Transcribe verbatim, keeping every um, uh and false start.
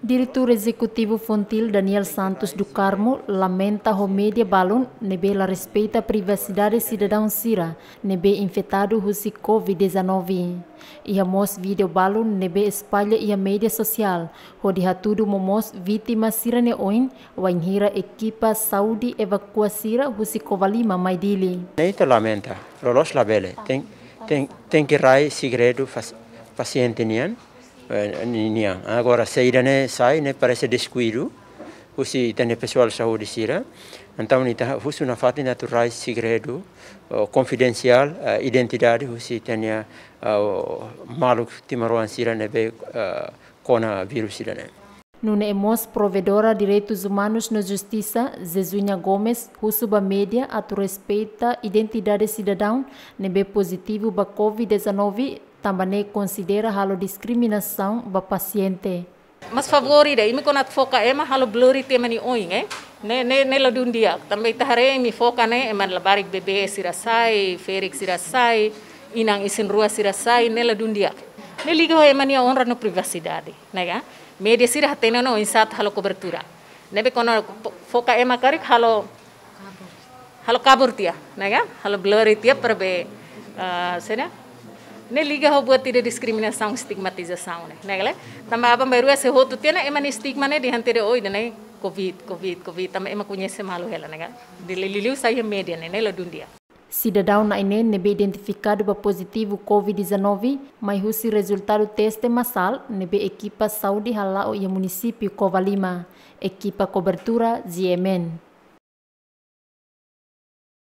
Diretór Ezekutivu Fontil, Daniel Santos do Carmo, lamenta ho média balun ne'ebé la respeita privasidade sidadaun sira ne'ebé infetadu husi covid dezanove. Iha mós vídeo balun ne'ebé espalla iha média sosiál, hodi hatudu momoos vítima sira-nia oin, wainhira ekipa saúde evakua sira husi Covalima mai Dili. Ne'e ita lamenta, loloos labele, tenke, tenke, tenke rai segredu fas-, pasiente nian, eh, ni-, nian. Agora, saida ne'e sai, ne'e parese deskuidu husi ita-nia pesoál saúde sira. Entaun, ita husu nafatin atu rai segredu, oh, konfidensiál, eh, identidade husi ita-nia, eh, maluk timoroan sira ne'ebé, eh, kona vírus sira-ne'e. Nune'e mós Provedora Direitus Umanus no Justisa, Zezunya Gomes, husu ba média atu respeita identidade sidadaun ne'ebé pozitivu ba covid dezanove, tanba ne'e konsidera halo diskriminasaun ba pasiente. Mas favór ida, imi kuandu atu foka ema halo blur tiha ema nia oin, eh? Ne'e, ne'e, ne'e la dún di'ak. Tanba ita haree imi foka ne'e, ema labarik bebé sira sai, ferik sira sai, inan isin-rua sira sai, ne'e la dún di'ak. Ne'e liga ho ema nia onra no privasidade, ne'e ka? Média sira hatene ona oinsá atu halo kobertura. Ne'ebé kuandu fo-, foka ema karik halo, halo kabur tiha, ne'e ka? Halo blur tiha para be, ah, sena? Ne'e liga ho buat ida diskriminasaun, stigmatizasaun, ne'e, ne'e ka lae? Tanba aban-bainrua sei hotu tiha ona ema nia stigma ne'e dehan tiha de'it, oh, ida-ne'e covid, covid, covid, tanba ema koñese malu hela, ne'e ka? Depois liuliu sai iha média ne'e, ne'e la dún di'ak. Sidadaun na'in-neen ne'ebé identifikadu ba pozitivu covid dezanove, mai husi rezultadu teste masál ne'ebé ekipa saúde hala'o iha munisípiu Covalima. Ekipa kobertura, G M N.